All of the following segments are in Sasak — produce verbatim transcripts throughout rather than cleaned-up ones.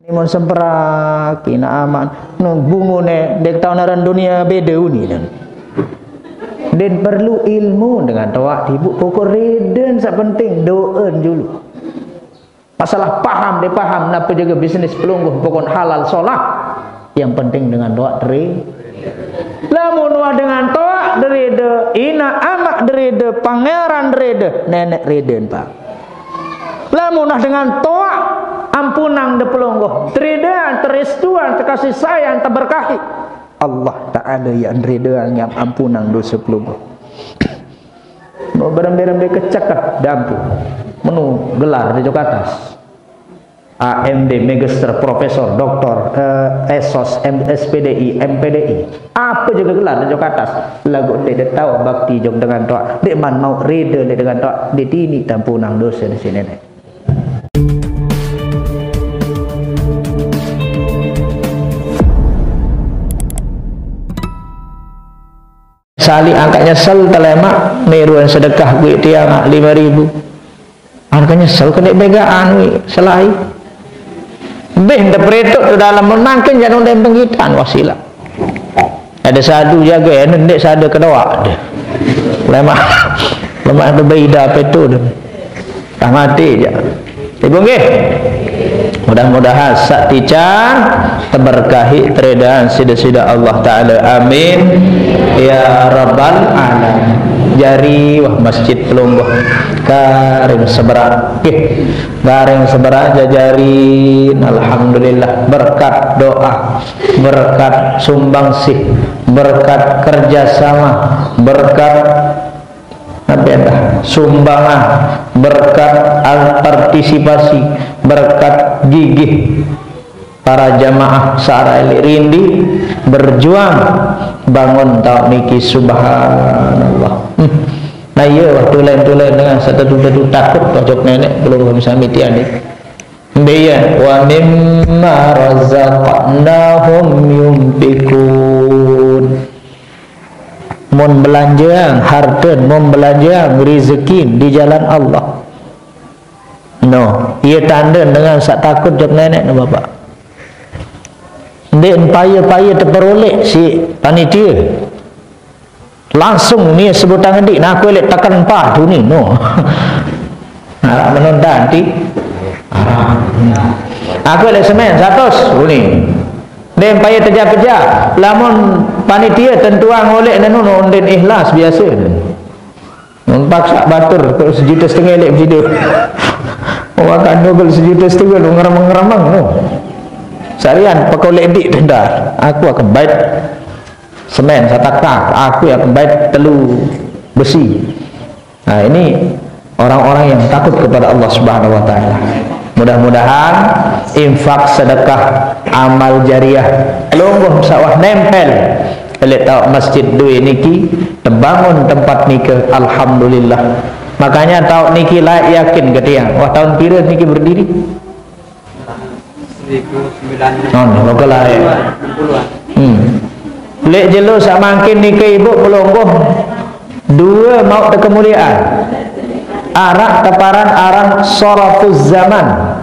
Ni mon semprak, ina aman. No, bungune, dek tau naran dunia beda uni, dan. Den perlu ilmu dengan toa, ibu pokok reden, sak penting doen dulu. Masalah paham, dia paham, napa jaga bisnis pelungguh, pokok halal solah. Yang penting dengan toa teri. Lamun wah dengan toa derede, ina amak derede, pangeran derede, nenek reden, Pak. Lamun wah dengan toa, ampunang de pelungguh, teridean, teristuan, terkasih sayang, terberkahi. Allah Ta'ala yang teridean, yang ampunang dosa pelungguh. Mau berembe-rembe kecek, ah, dampu. Menu gelar di Jakarta. A M D, Magister, Profesor, Doktor, eh, S O S, M-, S P D I, M P D I. Apa juga gelar di Jakarta. Lagu dek dia tahu bakti jog dengan toa. Dek man mau reda dek dengan toa. Di tini tampunang dosa di sini, nek. Sali angkat nyesel, telemak, niruan sedekah gue tiang, ah, lima ribu. Angkat nyesel, kena begaan, wi, selai. Beh, ente peretuk tu dalam menangkin jangan undang penggitan, wasilah. Ada satu jaga, ya, nendek sada kedua. Deh. Lemak, lemak tu beda apa tu, deh. Dah mati je. Ibu nggih. Mudah-mudahan sak tican teberkahi teredahan sida-sida Allah Ta'ala. Amin. Ya Rabbal Alamin. Jari wah masjid pelungguh. Garing seberak. Nggih. Garing seberak jajarin. Alhamdulillah. Berkat doa. Berkat sumbangsih. Berkat kerjasama. Berkat apa ya, dah? Sumbangan, berkat al-, partisipasi, berkat gigih para jamaah sara elik rindi berjuang bangun taun niki, subhanallah. Hmm. Nah, iya, wah, tulen-tulen dengan satu-satu takut pojok nenek belum sami tiani. Mbiyen, "Wa mimma razaqnahum yunfiqun." Mun belanjang harta, mun belanjang rezeki di jalan Allah. No, iya tanda dengan sak takut jawab nenek no bapak. Ndik paya-paya teperoleh si panitia. Langsung ni sebutang ngedik, nah, aku elek tekan empat tu ni, no. Arak menunda nanti. Arak. Aku elek semen, seratus, tu ni. Dia payah terjah-pejah. Lamun panitia tentuang oleh nenu, no, den ikhlas biasa. Mun paksa batur, kok sejuta setengah elek bersida. Makan nugel sejuta setengah, no, ngeremeng-ngeremeng, no. Sarian, pakai oleh dik tenda. Aku akan baik. Semen, satakah, aku yang kembali telu besi. Nah, ini orang-orang yang takut kepada Allah Subhanahu wa Ta'ala. Mudah-mudahan infak, sedekah, amal jariah, lungguh sawah nempel. Elek tahu masjid dua niki, terbangun tempat nikah, alhamdulillah. Makanya tahu niki layak yakin ke tiang. Wah, tahun pira niki berdiri? Seribu sembilan ratus. Oh, lo ke lahir. Enam puluhan. Hmm. Lek jelo sak mangkin niki ibu pelungguh dua mau kemuliaan. Arak teparan aran sarafuz zaman.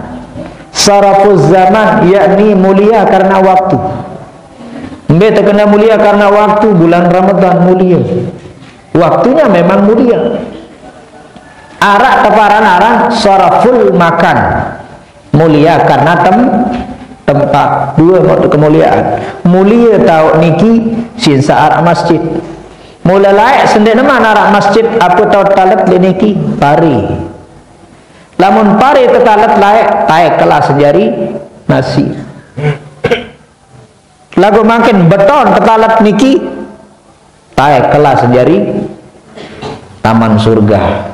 Sarafuz zaman yakni mulia karena waktu. Mbe terkena mulia karena waktu, bulan Ramadan mulia. Waktunya memang mulia. Arak teparan aran saraful makan. Mulia karena tem-, tempat. Dua waktu kemuliaan. Mulia tahu niki sinsa arak masjid. Mula layak sendek neman arak masjid apa tahu talet le niki pari. Lamun pari tetalet layak, taek kelas jari nasi. Lagu makin beton tetalet niki, taek kelas jari taman surga.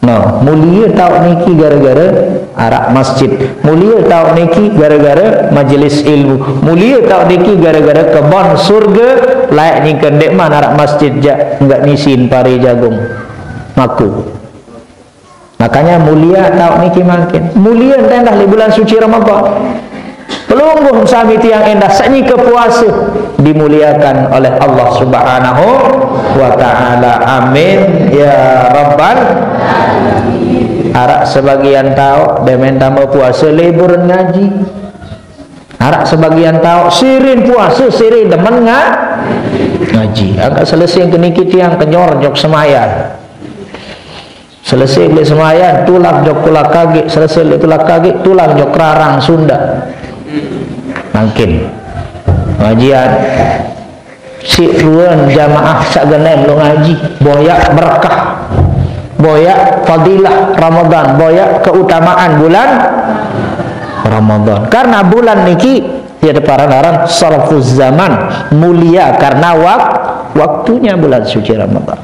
No, mulia tahu niki gara-gara arak masjid. Mulia tahu niki gara-gara majelis ilmu. Mulia tahu niki gara-gara kebon surga. Layak nyingken dek man arak masjid jak enggak nisin pari jagung. Maku. Makanya mulia tahu niki makin. Mulia endah di bulan suci Ramadan. Pelungguh sami tiang endah sakniki puasa dimuliakan oleh Allah Subhanahu wa Ta'ala. Amin ya Rabbal. Araq sebagian taoq demen tame puase libur ngaji. Araq sebagian taoq sirin puase, sirin demen nga-, ngaji. Angkat selesai ke niki tiang kenyor jok semayan. Selesai leq semayan, tulak jok tulak kagik, selesai leq tulak kagik, tulak jok rarang Sunda. Mangkin. Pengajian. Siq ruen jamaah saq genem lo ngaji. Boyaq berkah. Boyaq fadilah Ramadan. Boyaq keutamaan bulan Ramadan. Karena bulan niki, ya, teparan aran sarfuz zaman. Mulia karena wak-, waktunya bulan suci Ramadan.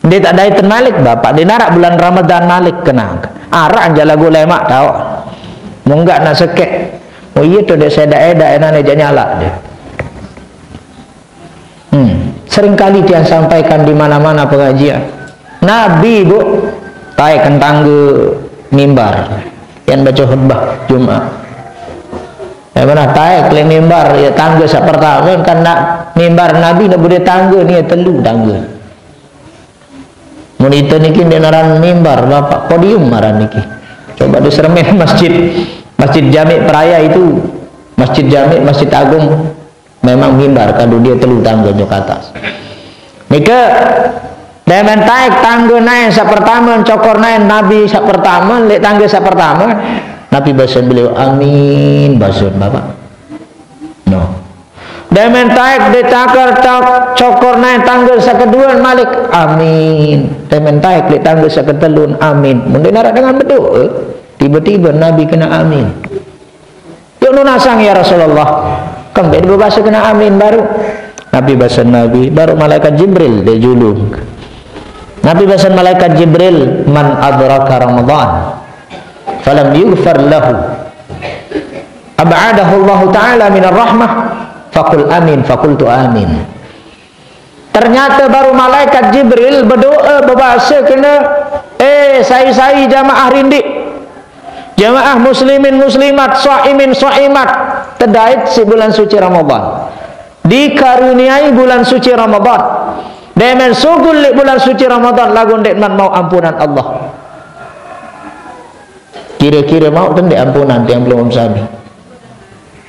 Ndeq taq daiten malik, Bapak. Ndeq naraq bulan Ramadan malik kenang. Araq jaq laguq lemaq taoq. Munggaq naq sekeq. Oh iya to, ndeq sedak-edak enane jaq nyalaq de. Hmm. Seringkali tiang sampaikan di mana-mana pengajian. Nabi, Bu, taeken tangge mimbar. Yang baca khutbah Jumat. Ya, mana taek leq mimbar, ya, tangge saq pertame, kan na-, mimbar Nabi ne bude tangge ni telu tangge. Mun ite niki ndeq naran mimbar, Bapak, podium aran niki. Coba diseremin masjid, Masjid Jami Peraya itu, Masjid Jami, Masjid Agung, memang mimbar, kadu dia telu tangge jok atas. Nike, demen taek tangge naen saq pertame, cokor naen Nabi saq pertame, leq tangge saq pertame, Nabi basen beliau, "Amin," basen Bapak. No. Demen taek de cakar cak-, cokor naen tangge saq keduen malik, "Amin." Demen taek leq tangge saq ketelun, "Amin." Mun ndeq naraq dengan bedoe, tibe-tibe Nabi kene amin. "Yuk nunasang, ya Rasulullah." Kembeq bebase kene amin baruq? Nabi basen Nabi, baruq malaikat Jibril de julung. Nabi basen malaikat Jibril, "Man adraka Ramadan falam yughfar lahu, ab'adahu Allahu ta'ala minar rahmah, faqul amin, faqultu amin." Ternyata baruq malaikat Jibril bedoe, bebase kene, "Eh, sai-sai jamaah rindik, jamaah muslimin muslimat, shaimin shaimat, tedait siq bulan suci Ramadan, dikaruniai bulan suci Ramadan, demen sugul leq bulan suci Ramadan, laguq ndeqman mauq ampunan Allah." Kire-kire mauq tendeq ampunan tiang pelungguh sami?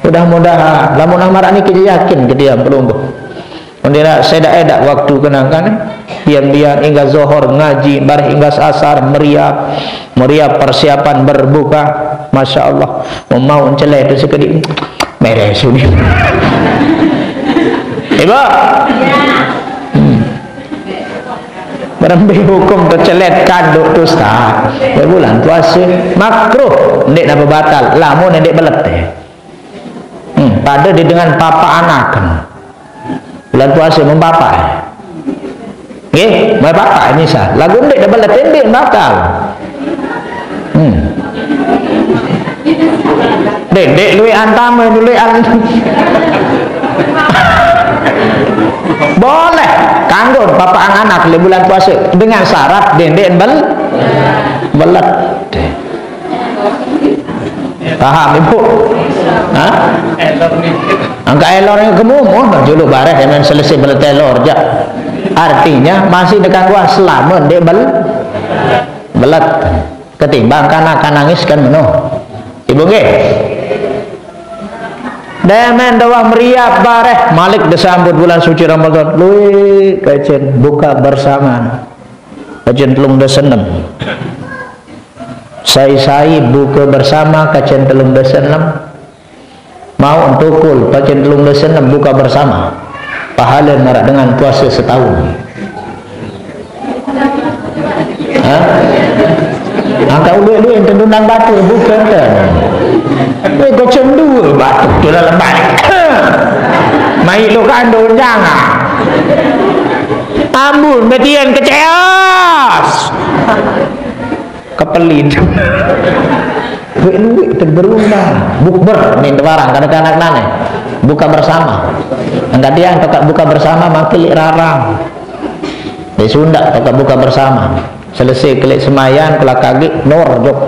Mudah-mudahan, lamun amaraq niki yakin ke tiang pelungguh. Mun ndeq sedak-edak waktu kenangkan, bian-bian inggas zohor ngaji, bareh inggas asar meriap, meriap persiapan berbuka. Masya Allah, mun mauq celet tu sekediq, meres unin. Ibu? Hmm. Berembe hukum tecelet kanduk tu, Ustaz? Leq bulan puase makruh, ndeq napa batal, lamun ndeq belet, eh. Hmm, pade di dengan papak anaken. Bulan puase mun papak, eh. Nggih, mun papak misal. Laguq ndeq belet, ndeq batal. Hmm. Ndeq, ndeq lueq antame, lueq an-, boleh. Kanggo papak anak leq bulan puase dengan syarat ndeq, ndeq bel-, belet. Paham, Ibu? Hah? Angkaq elor kemumuh, juluq bareh demen selesai belet elor jaq. Artinya masih dekangguan selame ndeq bel-, belet. Ketimbang kanak-kanak nangis kan meno. Ibu nggih. Demen doang meriap bareh, malik desambut bulan suci Ramadan. Lueq kecen buka bersama. Kecen telung dase enem. Sai-sai buka bersama kecen telung dase enem. Mauq tukul, pacen telung dase enem buka bersama. Pahale maraq dengan puase setahun. Hah? Angkaq uluq-uluq ente nundang batur, buka ente. Weh, kocen due batur tu dalam balik. Mai lo kandung jangan. Ambun, metian keceas. Kepelin. Lueq-lueq teberundang. Bukber, nin tebarang, kanak-kanak nane. Buka bersama. Angkaq tiang tokaq buka bersama, mangkin leq rarang. Leq sundaq tokaq buka bersama. Selesai ke leq semayan, kelak kagik, nur jok.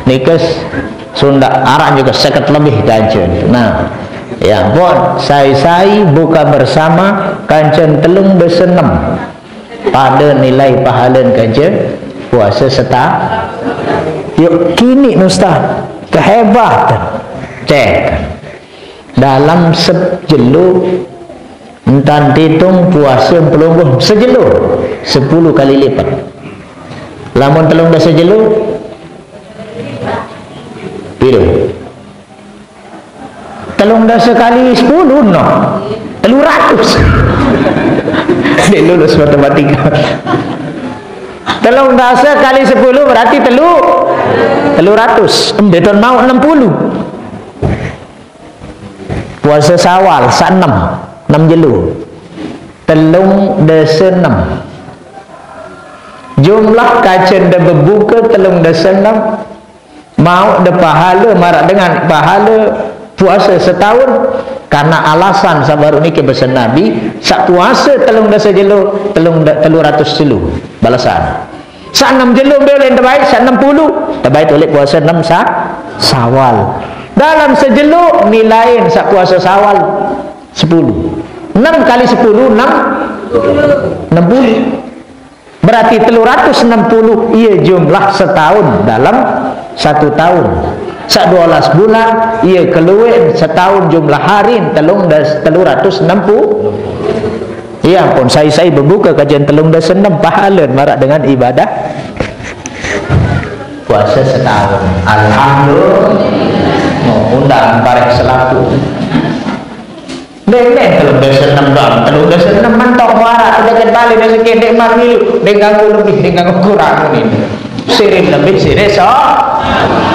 Nikes sundaq araq jok seket lebih kance. Nah, ya ampun, sai-sai buka bersama kancen telung dase enem. Pade nilai pahalen kance Puasa seta-, yuk, kini, Ustaz, kehebatan. Cek. Dalam sejelo, entan diitung puasa pelungguh sejelo, sepuluh kali lipat. Lamun telung dasa jelo, piro? Telung dasa kali sepuluh, no. Telu ratus. Dia lulus matematika. Telung dasa kali sepuluh berarti telu, telu ratus. Em, beton mau enam puluh. Puasa Sawal, sak enam, enam jelo. Telung dasa enam. Jumlah kajen de bebuka telung dasa enam, mau de pahala marak dengan pahala puasa setahun, karena alasan sabaru niki besen Nabi, sak puasa telung dasa jelo, telung da-, telu ratus jelo balasan. Sak enam jelo mbe oleh tebaik, sak enam puluh, tebaik oleh puasa enam sa-, Sawal. Dalam sejelo nilain sak puasa Sawal sepuluh. Enam kali sepuluh, enam, enam puluh. Berarti telu ratus enam puluh, iya jumlah setahun dalam satu tahun. Sak dua belas bulan, iya keluar setahun jumlah hari telung das-, telu ratus enam puluh. Iya pun, sai-sai bebuka kajen telung dasa enam, pahala marak dengan ibadah puasa setahun. Alhamdulillah. Mau undang bareng selaku. Dek, dek, telung dasa enam doang, telung dasa enam mentok muara, sedikit balik, dek, sedikit, dek, mak milu, dek, ganggu lebih, dek, ganggu kurang ini. Sirin lebih, sirin so.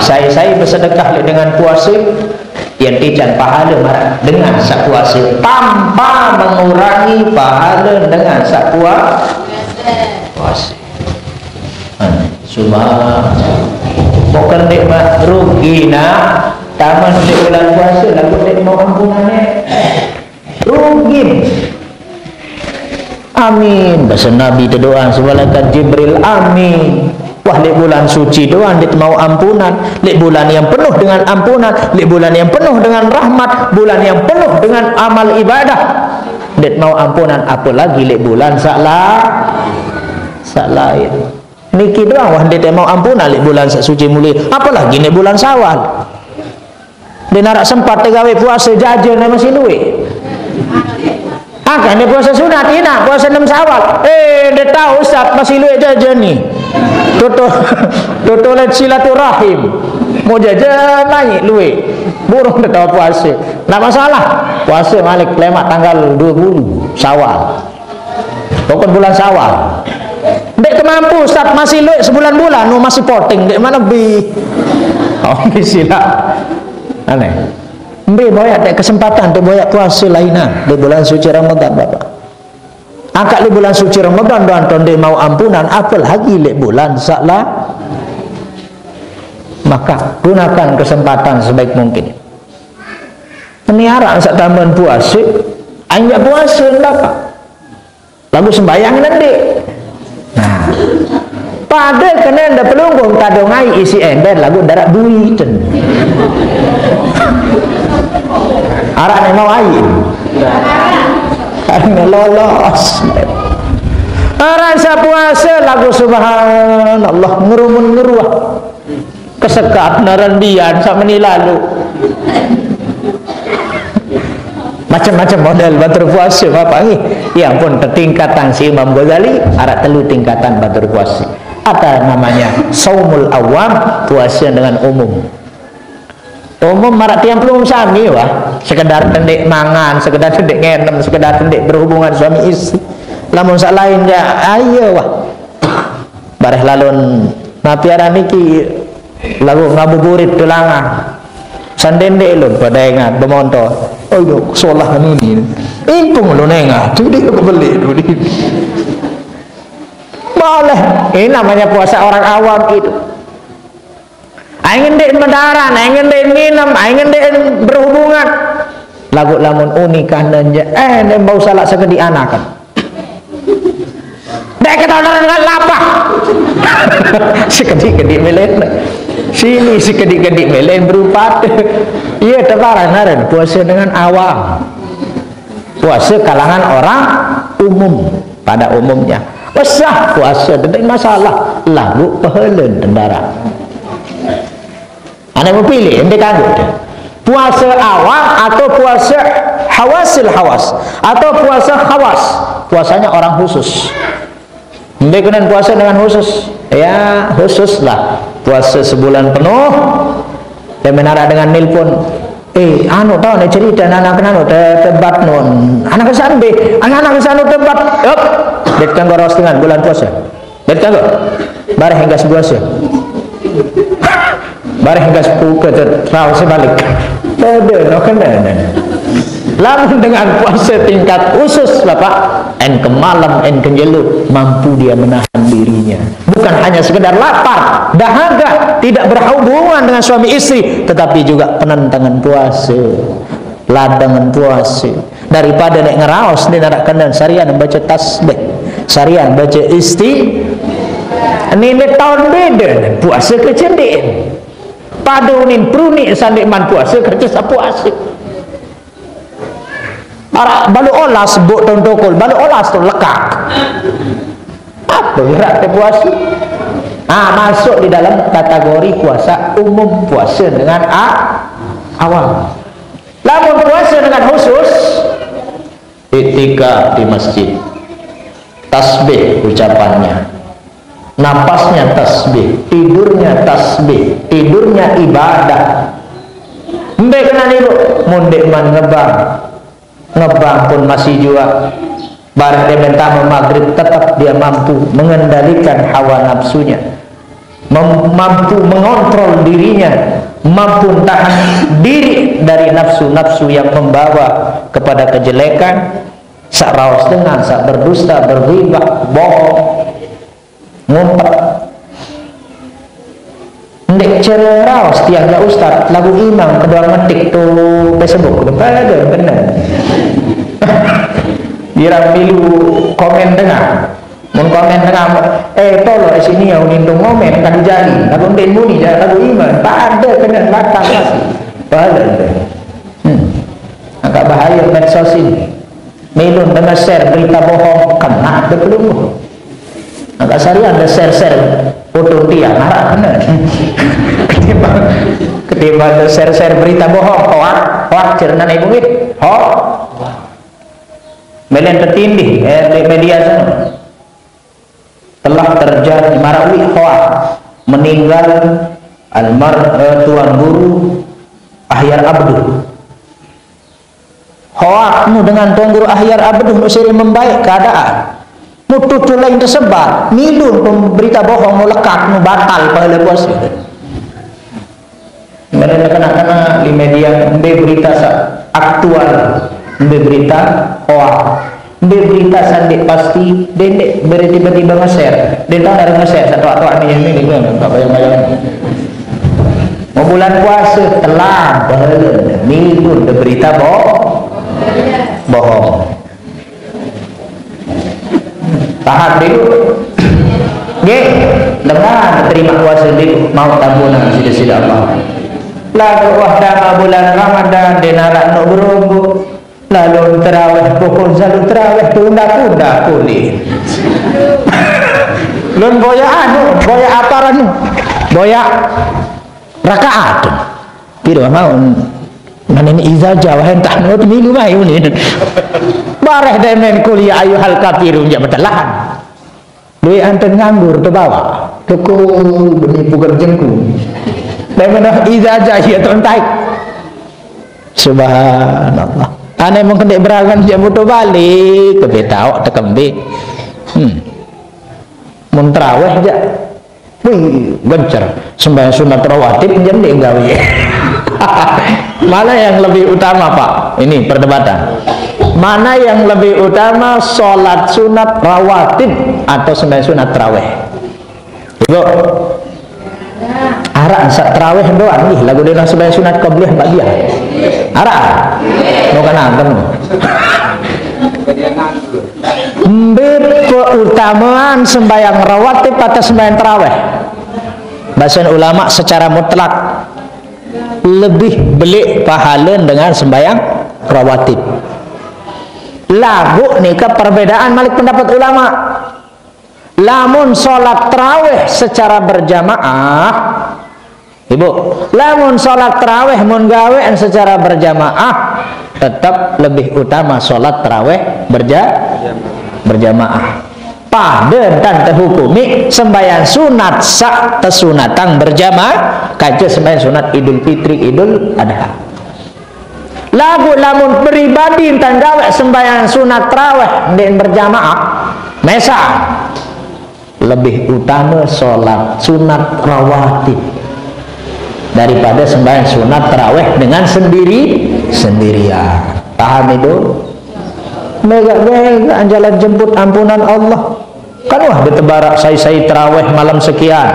Sai-sai bersedekah le dengan puasa, yang tijan pahala marak dengan sak puasa, tanpa mengurangi pahala dengan sak pua-, puasa. Subhan. Bukan dek mak rugi nak. Taman dek bulan puasa, lagu dek mau ampunan, eh. Rugi. Amin. Bahasa Nabi tu doang, semalaikat Jibril, amin. Wah, lek bulan suci doang, dek mau ampunan. Lek bulan yang penuh dengan ampunan, lek bulan yang penuh dengan rahmat, bulan yang penuh dengan amal ibadah, dek mau ampunan, apalagi lek bulan sak la-, sak lain. Niki doang wah ndeq mau ampunan leq bulan saq suci mulie, apalagi neq bulan Syawal. Ndeq naraq sempat tegawe puase, jajan masih lueq. Angkaq neq puase sunat, inaq puase enem Syawal. Eh, ndeq tao, Ustaz, masih lueq jajan ni. Toto-, toto leq silaturahim. Mau jajan naik lueq. Burung ndeq tao puase. Ndeq masalah. Puase malik lemaq tanggal due puluh Syawal. Pokok bulan Syawal. Ndeq kemampu, Ustaz, masih lueq sebulan-bulan, nu masih poteng, ndeq mana bi. Oh, silaq. Aneh. Mbe boyaq ndeq kesempatan ndeq boyaq puase lainan di bulan suci Ramadan, Bapak. Angkaq leq bulan suci Ramadan doang to ndeq mau ampunan, apalagi leq bulan saq la-, maka gunakan kesempatan sebaik mungkin. Ini araq saq tambahan puase, anjaq puase, Bapak. Laguq sembahyang ndeq. Nah. Pade kene ndeq pelungguh tadongai isi ember laguq ndaraq duiten. Araq neq mau aiq. Araq neq lolos. Araq saq puase laguq subhanallah ngerumun ngeruah. Kesekat naran bian saq meni lalu. Macem-macem model batur puase, Bapak nggih. Yang pun tetingkatan si Imam Ghazali, araq telu tingkatan batur puase. Ada namanya saumul awam, puase dengan umum. Umum maraq tiang pelungguh sami, wah. Sekedar tendeq mangan, sekedar tendeq ngenem, sekedar tendeq berhubungan suami istri. Lamun saq lain ya, ayo, wah. Bareh lalon napi aran niki laguq ngabuburit tulangah. Sandende lho pade engat bemontor. Oh, yo, solah anu ni. Impung lho nengah. Tu dia kebeli tu dia. Boleh. Ini namanya puasa orang awam itu. Aing ndeq medaran, aing ndeq nginem, aing ndeq berhubungan. Laguq lamun unikah nanya, eh, ndeq bau salaq sekediq anakan. Ndeq ketahuan dengan lapah. Sekediq-kediq mele. Sini sekediq-kediq mele berupat. Iya, tebarang aren puase dengan awam. Puase kalangan orang umum, pada umumnya. Pesah puasa, tidak masalah. Lagu pahala tentara. Anak mau pilih, ente kanggo deh. Puasa awam atau puasa hawasil hawas atau puasa khawas. Puasanya orang khusus. Ente kena puasa dengan khusus. Ya, khusus lah. Puasa sebulan penuh. Dia menara dengan nelpon. Eh, anu tau nih cerita anak anu te-, tebat nun. Anak kesan be, anak kesan tebat. Up. Dia tenggoros dengan bulan puasa. Dia tengok. Bareh hingga sebuah sih. Bareh hingga sepuluh ke ter-, terus sebalik. Ada, no kena. Lamun dengan puasa tingkat khusus, Bapak, en ke malam, en ke jelo, mampu dia menahan dirinya. Bukan hanya sekedar lapar, dahaga, tidak berhubungan dengan suami istri, tetapi juga penentangan puasa, ladangan puasa. Daripada nek ngeraos, nek narak kenen, sarian baca tasbih, sarian baca isti. Ini, ini tahun beda, puasa kecendin. Pada unin peruni sandik man puasa kerja sapuasa. Arak balu olas buk tahun tokol, balu olas tu lekak. Apa gerak ke puasa? Ah, masuk di dalam kategori puasa umum, puasa dengan a-, awal. Lamun puasa dengan khusus, iktikaf di masjid, tasbih ucapannya, napasnya tasbih, tidurnya tasbih, tidurnya ibadah. Mbek kena niru, mundek man ngebang, ngebang pun masih jua. Barang dia minta maghrib, tetap dia mampu mengendalikan hawa nafsunya, mem-, mampu mengontrol dirinya, mampu tahan diri dari nafsu-nafsu yang membawa kepada kejelekan, sak raos dengan, sak berdusta, berghibah, bohong, ngumpet. Ndek ceraos tiang ya ustad, lagu imam kedua ngetik tu Facebook, bener, bener. Kira milu komen tengah. Mun komen tengah, eh, tolo, eh, sini ya, unintung komen, kadu jali, lagu ndek muni, ya, lagu iman, tak ada kena batal pasti. Pahala ndek. Hmm. Agak bahaya medsos ini. Milun dengan share berita bohong, kena ada belum. Agak sehari ada share-share foto dia, marah bener. Ketimbang, ketimbang ada share-share berita bohong, hoak, hoak, cerita ibu, hoak. Melen tertindih, eh, di media sana. Telah terjadi marawi hoak, meninggal almar-, eh, Tuan Guru Ahyar Abduh. Hoak nu dengan Tuan Guru Ahyar Abduh nu sering membaik keadaan. Mutu tu lain tersebar, milun pun berita bohong, nu lekak, nu batal pahala puasa. Mereka kena-kena di media, mbe berita sa aktual, mbe berita hoak, mbe berita sa nde pasti, dia nde beri tiba-tiba nge-share. Dia tahu dari nge-share, satu atau ini, ini, ini, tak bayang-bayang. Mau bulan puasa, telah, pahala, minggu, ada berita bohong. Bohong. Tahan dulu. Nggih, dengan terima kuasa di mau tambunan sida-sida Allah. Lagu wah dama bulan Ramadan, denarak no berombo. Lalu terawih, pokok selalu terawih, tunda-tunda kulit. Lun boya anu, boya apa anu? Boya rakaat. Piro mau? Mana ini iza jawa entah no milu mai unin. Bareh demen kuliah ayu hal kafirun, ya, betelahan. Duit anten nganggur tu bawa. Toko demi pugar jengku. Demen iza jawa ya tontai. Subhanallah. Ane mungkin dek berangan dia mutu balik ke betau tekembe. Hmm. Mun terawih aja. Wih, gencer. Sembahyang sunat rawatib jam dia gawe. Mana yang lebih utama, Pak? Ini perdebatan. Mana yang lebih utama, sholat sunat rawatib atau sembahyang sunat terawih? Ibu, arah saat terawih doang nih, lagu dia sembahyang sunat qabliyah ba'diyah. Arah. Mau kena kamu. Mbe keutamaan sembahyang rawatib atas sembahyang terawih? Bahasan ulama secara mutlak lebih belik pahala dengan sembahyang rawatib. Lagu nika perbedaan malik pendapat ulama. Lamun sholat tarawih secara berjamaah, Ibu, lamun sholat tarawih mun gawean secara berjamaah, tetap lebih utama sholat tarawih berja-, berjamaah. Pada dan terhukumi sembahyang sunat sak tesunatang berjamaah, kaca sembahyang sunat Idul Fitri, Idul Adha. Lagu lamun pribadi entan gawe sembahyang sunat tarawih ndeq berjamaah, mesa lebih utama sholat sunat rawatib daripada sembahyang sunat tarawih dengan sendiri, sendirian. Paham itu? Mega-mega jalan jemput ampunan Allah. Kan wah betebarak sai-sai tarawih malam sekian.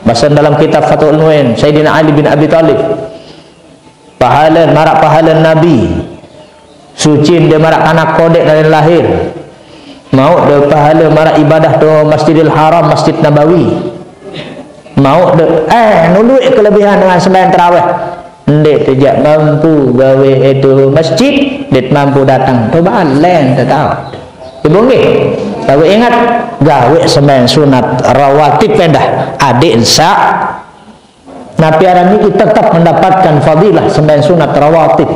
Bahasa dalam kitab Fathul Muin, Sayyidina Ali bin Abi Thalib. Pahala, maraq pahala Nabi. Suci de maraq kanak kodeq nalin lahir. Mauq de pahala maraq ibadah to Masjidil Haram, Masjid Nabawi. Mauq de, eh, nuluiq kelebihan dengan sembahyang tarawih. Ndeq tejaq mampu gawe itu masjid, ndeq mampu dateng. Coba len tetau. Ibu nggih. Laguq ingat, gawe sembahyang sunat rawatib endah. Adeq ensaq Napi aran niki tetep mendapatkan fadilah sembahyang sunat rawatib.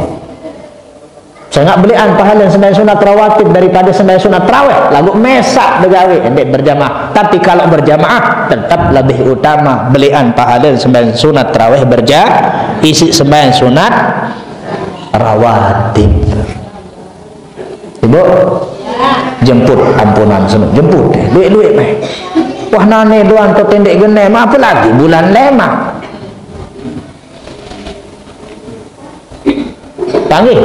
Sengaq beleqan pahale sembahyang sunat rawatib daripada sembahyang sunat tarawih, laguq mesaq begawe ndeq berjamaah. Tapi kalau berjamaah, tetep lebih utama beleqan pahale sembahyang sunat tarawih berja-, isiq sembahyang sunat rawatib. Ibu, jemput ampunan seno, jemput, lueq-lueq meh. Wah, nane doang to tendeq genem, apalagi bulan lemaq. Tanggih.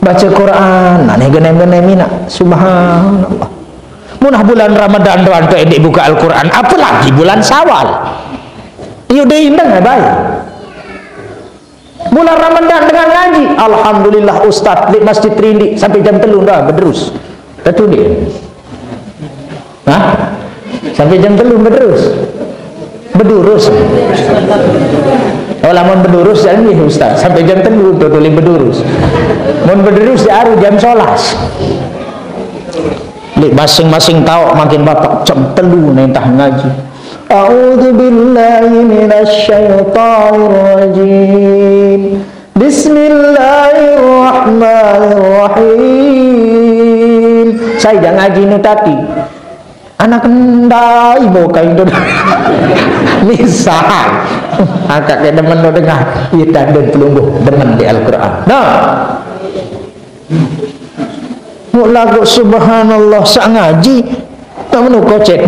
Baca Quran, nane genem-genem inaq. Subhanallah. Munah bulan Ramadan doang to endeq buka Al-Quran, apalagi bulan Syawal. Iyu de indeng ya, baik. Bulan Ramadan dengan ngaji. Alhamdulillah, Ustaz, leq Masjid Rindik sampai jam telu ndah bederus. Tetu ndeq? Hah? Sampai jam telu bederus? Bedurus. Oh, lamun bedurus, ya nggih, Ustaz. Sampai jam telu to tuli bedurus. Mun bederus, ya aru jam sebelas. Leq masing-masing taoq mangkin bapak jam telu nentah ngaji. A'udzu billahi minasy syaithanir rajim. Bismillahirrahmanirrahim. Sai jaq ngaji nu tadi. Anak ndai bokai ndo. Misal. Angkat ke demen nu dengah. Ie tande pelungguh demen di Al-Quran. Nah. Muk laguq subhanallah saq ngaji. Tak menu kocet.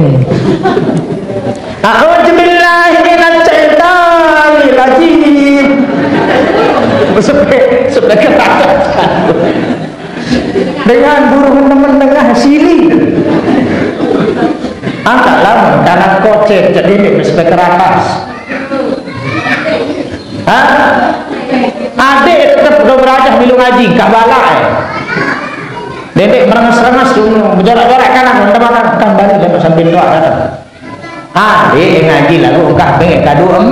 A'udzubillahi minasy syaithanir rajim. Sampai, sampai ke atas. Dengan burung nemen nengah sili. Angkatlah tangan kocet jadi sampai ke atas. Hah? Adeq tetep do berajah milu ngaji, kak balak, eh. Dedek merenges-renges dulu, bejorak-jorak kanan, teman-teman, kan balik dapat sambil doa datang. Adeq ngaji lalu engkah bengek kadu em.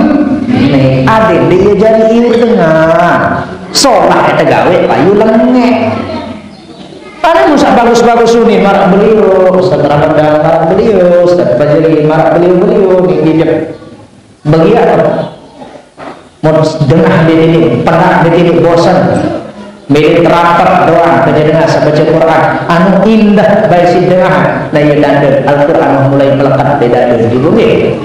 Nih, adeq dia jadi iur tengah. Solah tegawe payu lengek. Ada musa bagus-bagus uni marak beliau, Ustaz Ramadan marak beliau, Ustaz Fajri marak beliau-beliau, nih, di Begitu. Mun dengah di titik penat, di titik bosan, milih teraper doang baca dengah, baca Quran. Anu indah bae siq dengah, nah, iya tande Al-Quran mulai melekat di dade. Ibu nggih.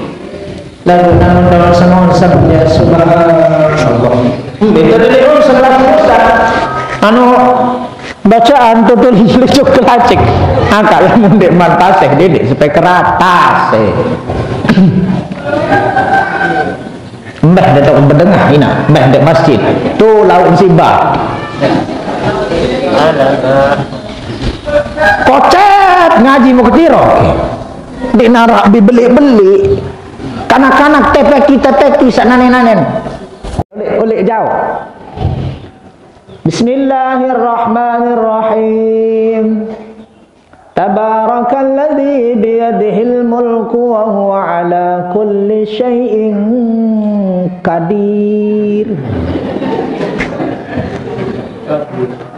Lalu namun dalam semua sampai subhanallah. Hmm, itu tadi pun sebelah Ustaz. Anu, bacaan tutul licuk kelacik. Angkat lamun ndeq mantaseh, ndeq, ndeq sampai keratas, eh. Mbah ndeq tao bedengah inaq, mbah ndeq masjid. Tu lauk musibah. Kocet ngaji mau ketiro. Ndeq narak bibeli-beli. Kanak-kanak tepeki-tepeki saq nanen-nanen. Oleh, oleh jauh. Bismillahirrahmanirrahim. Tabarakalladzi biyadihil mulku wa huwa ala kulli syai'in qadir.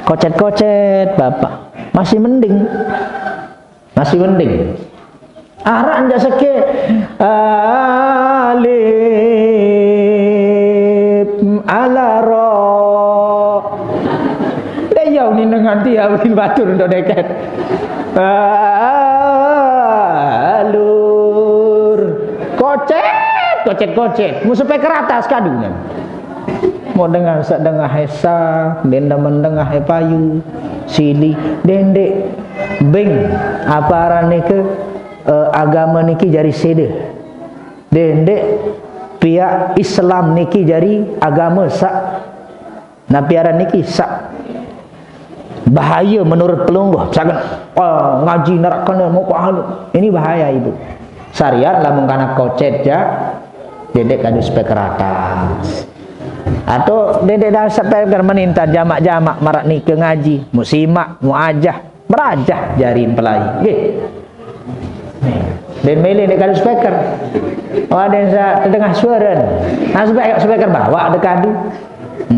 Kocet-kocet, Bapak. Masih mending. Masih mending. Araq njaq sekeq. Alif ala ra. Ndeq yau ni dengan tiang ulin batur untuk deket. Alur. Kocet, kocet, kocet. Mu speaker atas kadunan. Mau dengan saq dengah esa, denda mendengah e payu, sili, dendeq beng. Apa aran nike, eh, agame niki jari sede. Dendeq piaq Islam niki jari agame saq, napi aran niki, saq bahaya menurut pelungguh. Misalkan, oh, ngaji neraka ne mau pahala. Ini bahaya, Ibu. Syariat lamun kanak kocet jaq, dendeq kadu speaker atas. Atau dendeq dah speaker menintan jamaq-jamaq maraq nike ngaji, musimaq, muajah, berajah jarin pelai. Nggih. Den mele ndeq kadu speaker. Oh, aden saq tedengah suare. Nah, speaker, speaker bawaq ndeq kadu.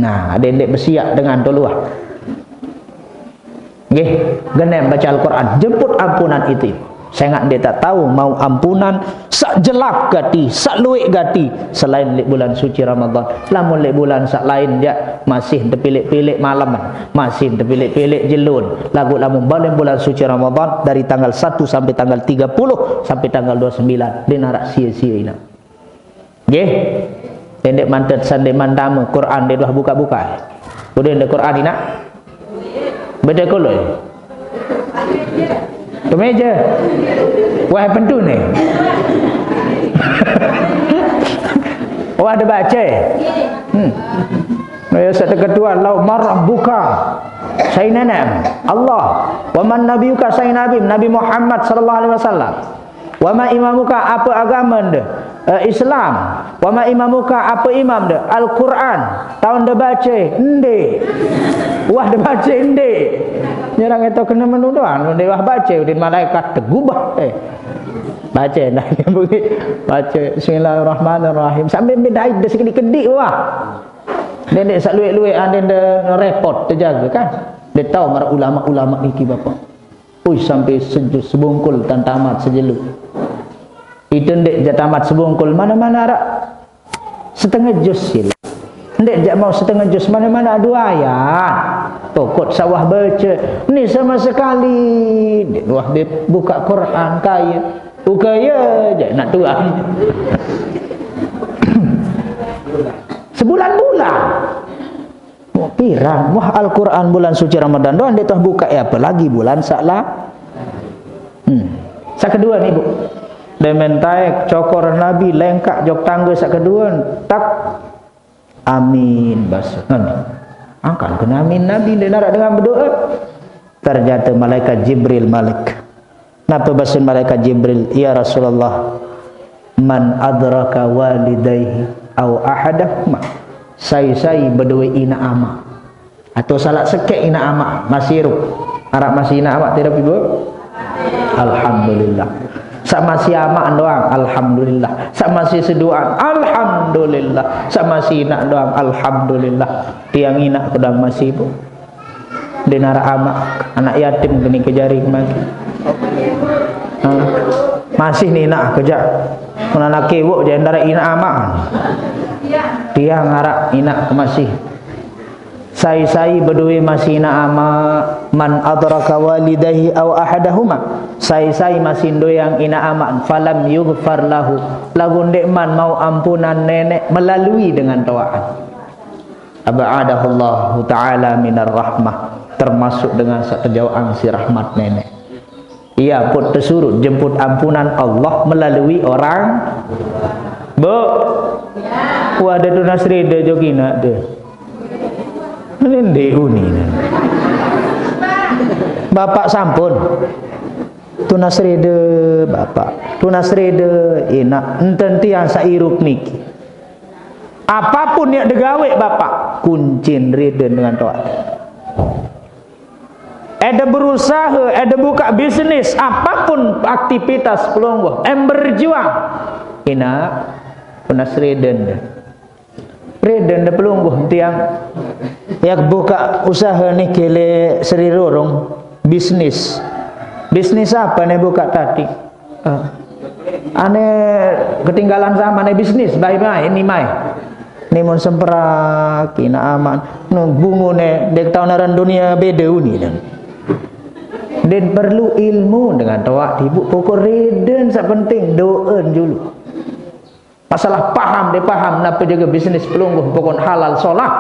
Nah, aden ndeq besiaq dengan toluah. Nggih, genem bace Al-Quran, jemput ampunan ite. Sengaq ndeq taq tao mauq ampunan saq jelap gati, saq lueq gati, selain leq bulan suci Ramadan. Lamun leq bulan saq lain jaq, masih tepileq-pileq malem, masih tepileq-pileq jelun. Laguq lamun baleng bulan suci Ramadan, dari tanggal satu sampai tanggal tiga puluh, sampai tanggal dua sembilan, ndeq naraq sie-sie inaq. Nggih. Ndeq mantet sandeqman tame, Quran ndeq tuah bukaq-bukaq. Udah ndeq Quran inaq? Beda kolo. Kemeja. Wah, pentu ni. Wah, ada baca. Hmm. Ya, satu kedua, lau marah buka. Sainana Allah. Wa man nabiyuka, sai Nabi, Nabi Muhammad sallallahu alaihi wasallam. Wa ma imamuka, apa agamande? Eh, Islam. Wa ma imamuka, apa imamde? Al-Quran. Taunde bace? Ndeq. Wah, de bace? Ndeq. Nyerang itu kena menuduhan, ndeq wah bace, udin malaikat tegubah. Eh. Bace, nah, bunyi. Bace, bismillahirrahmanirrahim. Sambil bedait de sekedik-kedik, wah. Ndeq, ndeq saq lueq-lueq, aden de repot tejaga, kan? De tao maraq ulama-ulama niki, Bapak. Ui, sampai sejus sebungkul tan tamat sejelo. Ite ndeq jaq tamat sebungkul, mana-mana araq setengah jus sila. Ndeq jaq mau setengah jus, mana-mana dua ayat. Pokok sawah bace. Ni sama sekali. Ndeq wah be-, bukaq Quran, kaya. Ukaya jaq nak tuan. Sebulan-bulan. Wah, pirang. Wah, Al-Quran bulan suci Ramadan doang ndeq tuah bukaq, ya, apalagi bulan saq la-, hmm. Saq kedue ni, Bu. Demen taek cokor Nabi lengkaq jok tangge saq kedue, tak amin base. Amin. Angkan kena amin Nabi ndeq naraq dengan bedoe. Ternyata malaikat Jibril malik. Nape basen malaikat Jibril? "Ya Rasulullah, man adraka walidayhi au ahadahuma." Sai-sai bedoe inaq amaq. Atau salaq sekeq inaq amaq masih irup. Araq masih inaq amaq tirup, Ibu? Alhamdulillah. Saq masih amaq doang, alhamdulillah. Saq masih seduaan, alhamdulillah. Saq masih inaq doang, alhamdulillah. Tiang inaq kedang masih, Bu. Ndeq naraq amaq, anak yatim kene kejari kemaki. Ha. Masih ni inaq kejaq. Mun anak kewok jaq ndaraq inaq amaq. Tiang araq inaq masih. Sai-sai bedoe masih inaq amaq, man adraka walidayhi au ahadahuma. Sai-sai masih ndoeang inaq amaq, falam yughfar lahu. Laguq ndeqman mauq ampunan neneq melalui dengan toaqan. Ab'adahullahu ta'ala minar rahmah, termasuk dengan saq tejaoqang siq rahmat neneq. Ie pun tesuruq jemput ampunan Allah melalui orang, Bu. Wah, de tunas rede jok inaq de. Ini ndeq uni ne. Bapak sampun. Tunas rede, Bapak. Tunas rede, inaq. Enten tiang saq irup niki. Apapun yaq degaweq, Bapak, kuncin reden dengan toaq. Ede berusahe, ede bukaq bisnis, apapun aktivitas pelungguh, em berjuang. Inaq, tunas reden. Reden de pelungguh tiang. Yaq bukaq usahe niki leq Sri Rurung, bisnis. Bisnis ape ne bukaq tadi? Ah. Ane ketinggalan zaman, ane bisnis, bye-bye, ni mai. Ni mun semperak, ina amak, nu bungu ne, dek tau naran dunia beda uni dan. Den perlu ilmu dengan toa tibu pokok reden sak penting doen dulu. Masalah paham, dia paham, napa jaga bisnis pelungguh, pokok halal solah.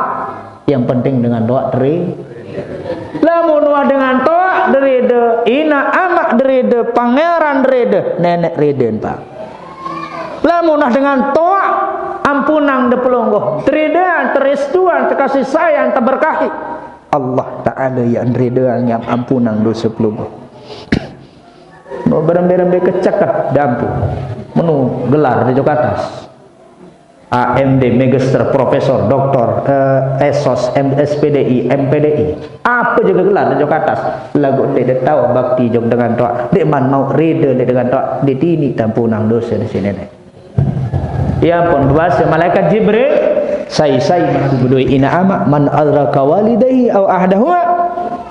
Yang penting dengan toa teri. Lamun wah dengan toa derede, ina amak derede, pangeran derede, nenek reden, Pak. Lamun wah dengan toa, ampunang de pelungguh, teridean, teristuan, terkasih sayang, terberkahi. Allah Ta'ala yang redean, yang ampunang dosa pelungguh. Mau berembe-rembe keceket dampu. Menu gelar di Jakarta. A M D, Magister, Profesor, Doktor, eh, S.Sos, M-, S P D I, M P D I. Apa juga gelar di Jakarta. Lagu dek, dek tahu bakti jok dengan toa. Dek man mau reda dek dengan toa. Dek tini tampunang dosa di sini, dek. Ya ampun, bahasa malaikat Jibril, sai-sai mati bedoi ina amak, man adraka walidayhi au ahdahuma,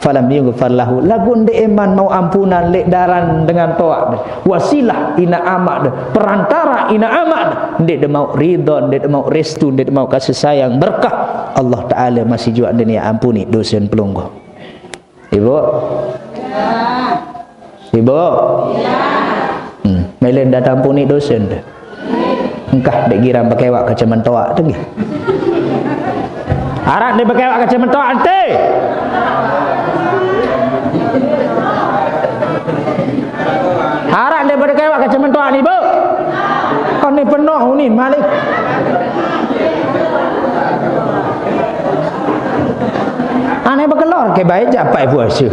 falam yughfar lahu. Lagu nde eman mau ampunan lek daran dengan toa de. Wasilah ina amak de, perantara ina amak de. Nde de mau ridho, nde de mau restu, nde de mau kasih sayang, berkah. Allah Ta'ala masih juga nde ni ampuni dosen pelungguh. Ibu? Ibu? Hmm. Melen datang puni dosen tu. Engkah dek girang bekewak ke cementoak tu. Arak dek bekewak ke cementoak ente. Arak dek bekewak ke cementoak ni, Bu. Kau ni penuh ni, malik. Aneh bekelor ke baik japai puasa.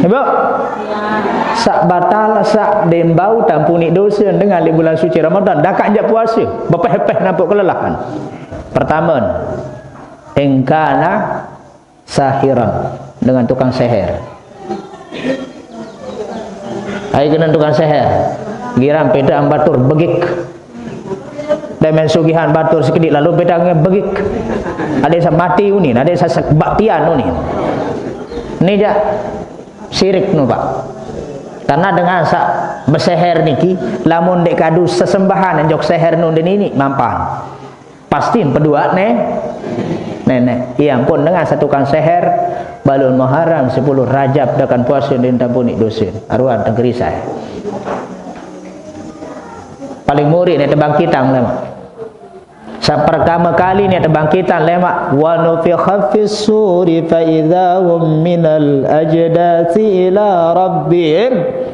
Ibu? Sak batal, sak dembau tampuni dosa dengan li bulan suci Ramadan. Dakak jak puasa. Bepeh-peh nampak kelelahan. Pertama, engkana sahiran, dengan tukang seher. Ai kena tukang seher. Girang peda ambatur begik. Demen sugihan batur sekedik lalu peda ngebegik. Ada sa mati uni, ada sa baktian uni. Ni jak sirik nu, Pak. Karena dengan sak beseher niki, lamun dek kadu sesembahan jok seher nu nini mampan. Pasti pedua ne, nenek. Iya ampun dengan satu tukang seher, balun Muharram sepuluh Rajab dakan puasa din tampuni dosa. Aruan tengkeri saya. Paling muri ne tebangkitang lemak. Sa pertama kali ne tebangkitang lemak, wa nufikha fis suri fa idza hum minal ajdasi ila rabbihim.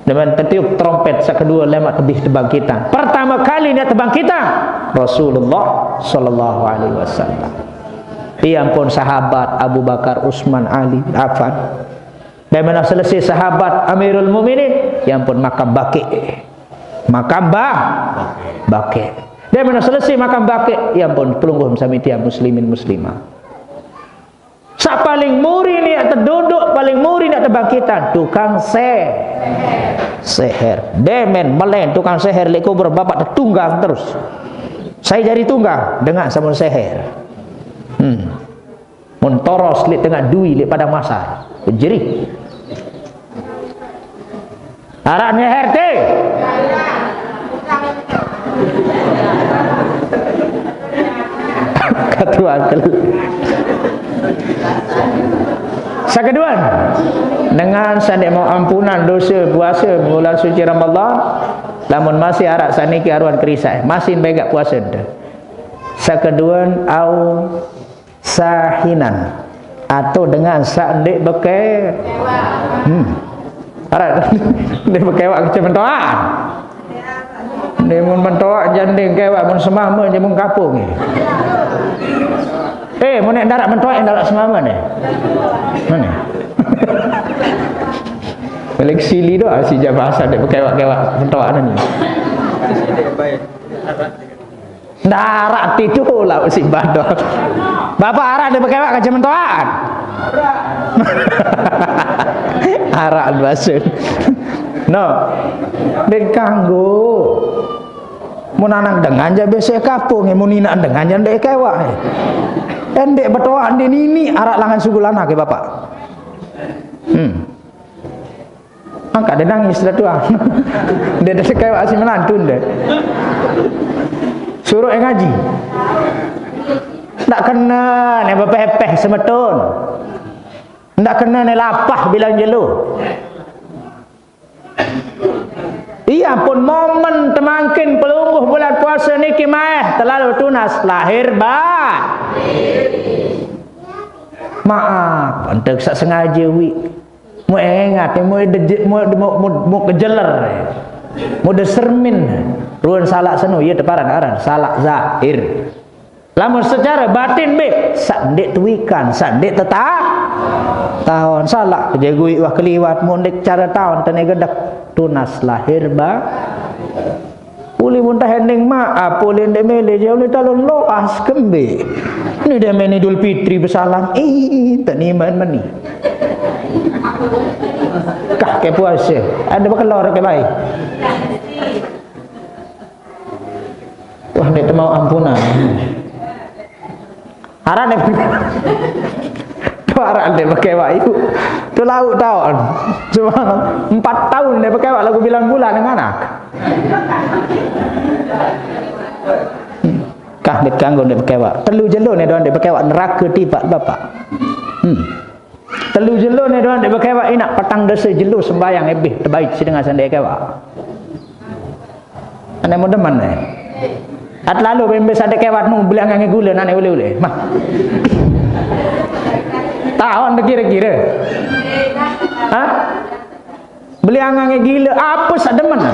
Demen tetiup trompet sekedua lemak tebih tebangkitang. Pertama kali ni tebangkitang Rasulullah sallallahu alaihi wasallam. Ia pun sahabat Abu Bakar, Utsman, Ali, Affan. Demen selesai sahabat Amirul Mukminin, ia pun makam Baqi. Makam bah, Baqi. Demen selesai makam Baqi, ia pun pelungguh sami tiang muslimin muslimah. Sa paling muri ni teduduk, paling muri ni tebangkitan, tukang se-, seher. Demen melen tukang seher lek kubur bapak tetunggang terus. Saya jadi tunggang dengan samun seher. Hmm. Mun toros lek tengah dui lek padang masar. Jerih. Arak nyeher te. Katuan kel-, sekeduan, dengan sandek mau ampunan dosa puasa bulan suci Ramadan, lamun masih arak saniki aruan kerisai, masih begak puasa ente. Sekeduan au sahinan atau dengan sak ndik beke-, hmm. Arak ndik bekewak kece mentoak. Ndik mun mentoak janding kewak, mun semama je mun kapung ni. Eh, mun nek darak mentoak, nek darak semama ni. Mana? Paling sili doa si jabasa ndik bekewak-kewak mentoak ni. Darat itu lah si bador. Bapak arak dia bekewak kece mentoak. Arak bahasa. No. Den kanggo. Mun anak dengan ja besek kapung, mun inak dengan ja ndek kewak. Endek betoak ndek nini arak langan sugulana ke bapak. Hmm. Maka dia nangis dah tuan. Dia dah kewak si menantu dia. Suruh yang ngaji. Tak kena ni bepepeh semeton. Tak kena ni lapah bilang jelo. Iya pun momen temangkin pelungguh bulan puasa niki maeh terlalu tunas lahir ba. Maaf, ente sak sengaja wi. Mu ingat, mu de, mu, mu, mu, mu kejeler. Mu de sermin. Ruan salak seno, iya teparan aran salak zahir. Lamun secara batin be, sak ndeq tuikan, sak ndeq teta-, taon, salak kejegui wah keliwat, mun ndeq cara taon tene gedek, tunas lahir ba. Uli muntah ending maaf, uli ndeq mele je uli talon loas kembe. Ni dia main Idul Fitri besalam, ih, tak niman meni. Kah ke puasa, ada bekelor ke baik. Wah, ndeq temau ampunan. Aran ndeq, tu aran ndeq bekewak ibu. Tu lauk taun. Cuma empat taun ndeq bekewak lagu bilang bulan dengan anak. Kah ndeq kanggo ndeq bekewak. Telu jelo ne doang ndeq bekewak nerake tipaq Bapak. Hmm. Telu jelo ne doang ndeq bekewak inaq, petang dese jelo sembayang ebih tebait side ngasan ndeq kewak. Ane mun demen ne. At lalu bembe sade kewat nu beli angange gule nane ule-ule. Mah. Taon kira-kira. Hah? Beli angange gile, apa sak demen?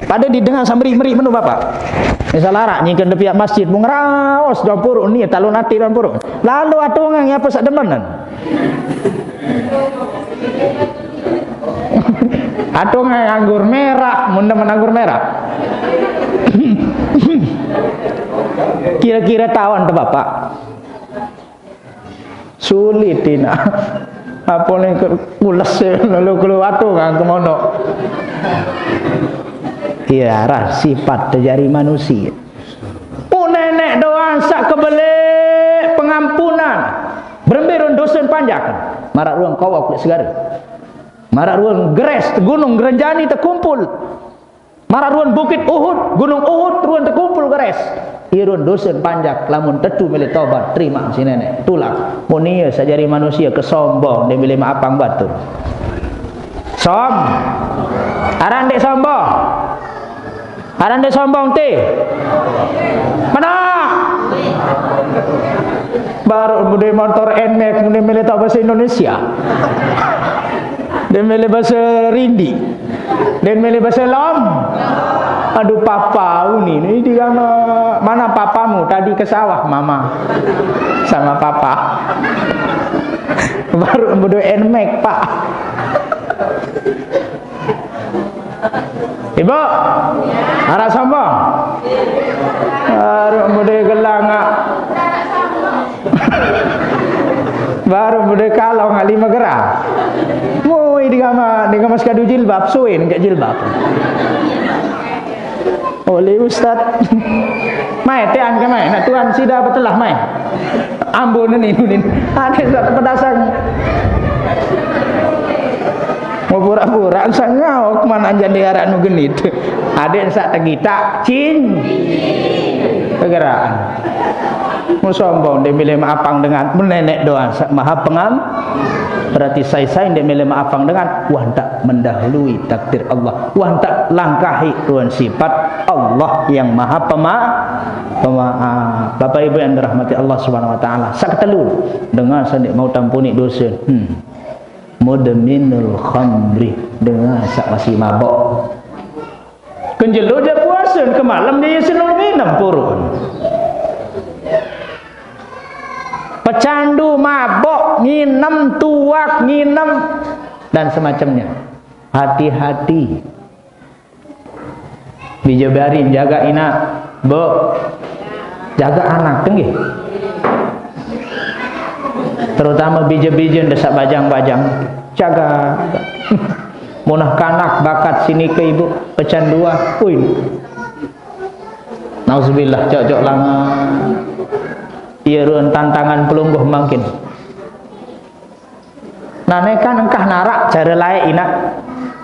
Pada didengar samri-meri menu Bapak. Misal arak nyingken de piaq masjid, mung raos doang puruk ni, talon ati doang puruk. Lalu atungan apa sak demen? Atungan anggur merah, mun demen anggur merah. Kira-kira taon te Bapak. Sulit ina. Apa ni ke-, kules ya, lalu keluar tu kan ke monok. Iya, arah sifat terjadi manusia. Pun nenek doang sak kebelek pengampunan. Berembe ruen dosen panjak. Marak ruang kawak kulit segara. Marak ruang geres gunung Gerenjani terkumpul. Maraq ruen Bukit Uhud, Gunung Uhud, ruen tekumpul geres. Ie ruen dosen panjak, lamun tetu mele tobat, terima si nenek. Tulak. Mun ie saq jari manusie kesombong, ndeq mele meapang batur. Som-, aran ndeq sombong. Aran ndeq sombong, te. Menaq. Baruq mbe motor Nmax, mbe mele taoq base Indonesia. Ndeq mele base Rindi. Ndeq mele base Lom. Aduh, papa uni ni di mana? Mana papamu? Tadi ke sawah, mama. Sama papa. Baruq mbe Nmax, Pak. Ibu, araq sombong? Baruq mbe gelang, ah. Baruq mbe kalong, ah, lime gram. Mui digama, digama sekadu jilbab, suin ke jilbab. Oleh ustaz. Mai, tean ke mai, nak tuan sida betelah mai. Ambon ni, ni. Ada satu pedasang. Mau pura-pura, saq ngaoq man anjan de araq nu genit. Adeq saq tegitak, cin. Kegeraan. Mau sombong, ndeq mele meapang dengan. Menenek doang, saq maha pengam. Berarti sai-sai ndeq mele meapang dengan. Wah, ntak mendahului takdir Allah. Wah, ntak langkahi tuan sifat Allah yang maha pema-, pemaaf. Bapak Ibu yang dirahmati Allah Subhanahu wa Ta'ala. Saq ketelu, dengan saq ndeq mau tampuni dose. Hmm. Mudminul khamri, dengan saq masih mabok. Kenjelo jaq puase, kemalem jaq isin nginem purun. Pecandu, mabok, nginem, tuak, nginem, dan semacamnya. Hati-hati. Bije barim jaga inaq, Bu. Jaga anak, nggih. Terutama bije-bije ndeq saq bajang-bajang. Jaga. Munah kanak bakat sinike, Ibu, pecanduan. Ui. Nauzubillah, cocok langan. Ie ruen tantangan pelungguh mangkin. Nah, ne kan engkah naraq care laeq inaq.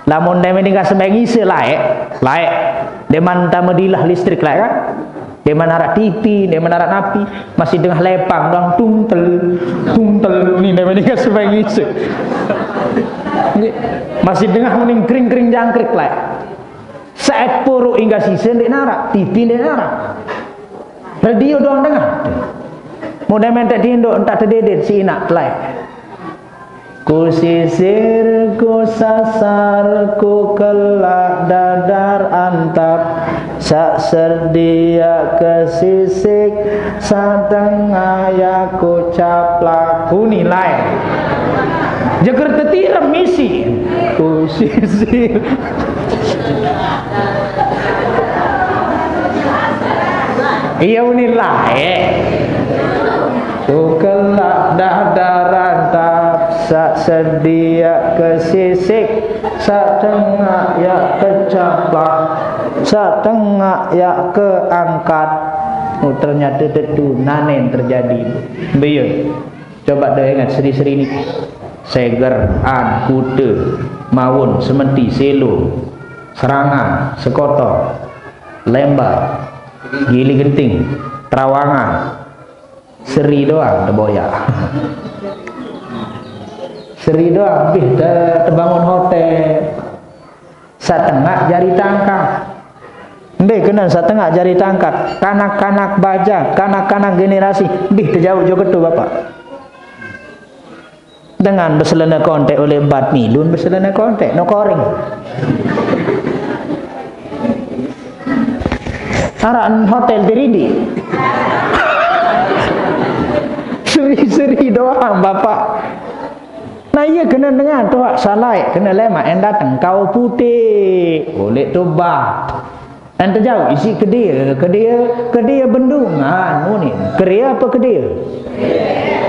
Lamun deme ninggal sembahyang ise lae, lae. Demen tame dilah listrik lae kan? Demen arak T V, demen arak napi, masih dengah lepang doang, tungtel, tungtel, ni deme ninggal sembahyang ise. Masih dengah mending kering-kering jangkrik lae. Saat puru ingga sise ndeq narak, T V ndeq narak. Radio doang dengah. Mudah mentek tinduk, entak tededet si inak lae. Kusisir, kusasar, kukelak dadar antap, saq sediaq kesisik, satengaq yaq kucaplak. Uni lae. Jeger tetirem misi. Kusisir. Iya, uni lae. Kukelak dadar antap, saq sediaq kesisik, satengaq yaq kecaplak, satengaq yaq keangkat. Oh, ternyata tetu nanen terjadi. Mbe ye? Coba deh ingat seri-seri ni. Seger, An, Kute, Mawon, Sementi, Selo, Serangan, Sekotor, Lembar, Gili Genting, Trawangan, Seri doang teboyak. Seri doang, bih te-, tebangun hotel. Satengaq jari tangkat. Mbe kenen satengaq jari tangkat? Kanak-kanak bajang, kanak-kanak generasi, bih tejauq jok ketu, Bapak. Dengan beselene kontek oleh bat milun, beselene kontek no koring. Araq hotel tiridi. Seri-seri doang, Bapak. Nah, iya kene dengan tuaq salai, kene lemaq en dateng kau putih. Oleh tobat. En tejauq isi kedie, kedie, kedie bendungan, muni. Kerie apa kedie?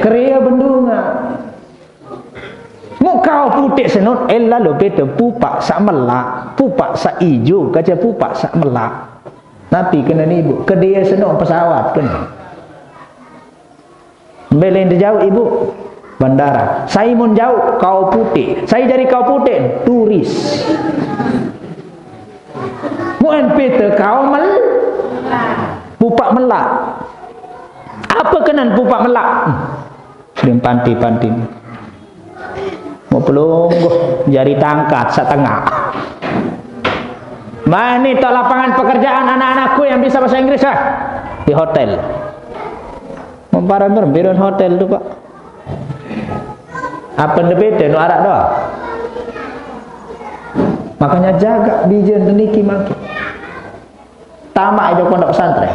Kerie bendungan. Muq kau puteq senut, eh, lalo pete pupaq saq melaq, pupaq saq ijo, kace pupaq saq melaq. Napi kene ni, Ibu? Kedie senut pesawat kene. Mbe lain tejauq, Ibu? Bandara. Sai mun jauq, kau puteq. Sai jari kau puteq, turis. Muq en pete kau mel-, pupaq melaq. Apa kenen pupaq melaq? Dem panti-panti. Mau pelungguh, jari tangkat setengah. Mane tok lapangan pekerjaan anak-anakku yang bisa bahasa Inggris, ah? Di hotel. Memparan berembiran hotel tu, Pak. Apa nde beda no araq doang? Makanya jaga bijen niki mangke. Tamaq aja pondok pesantren.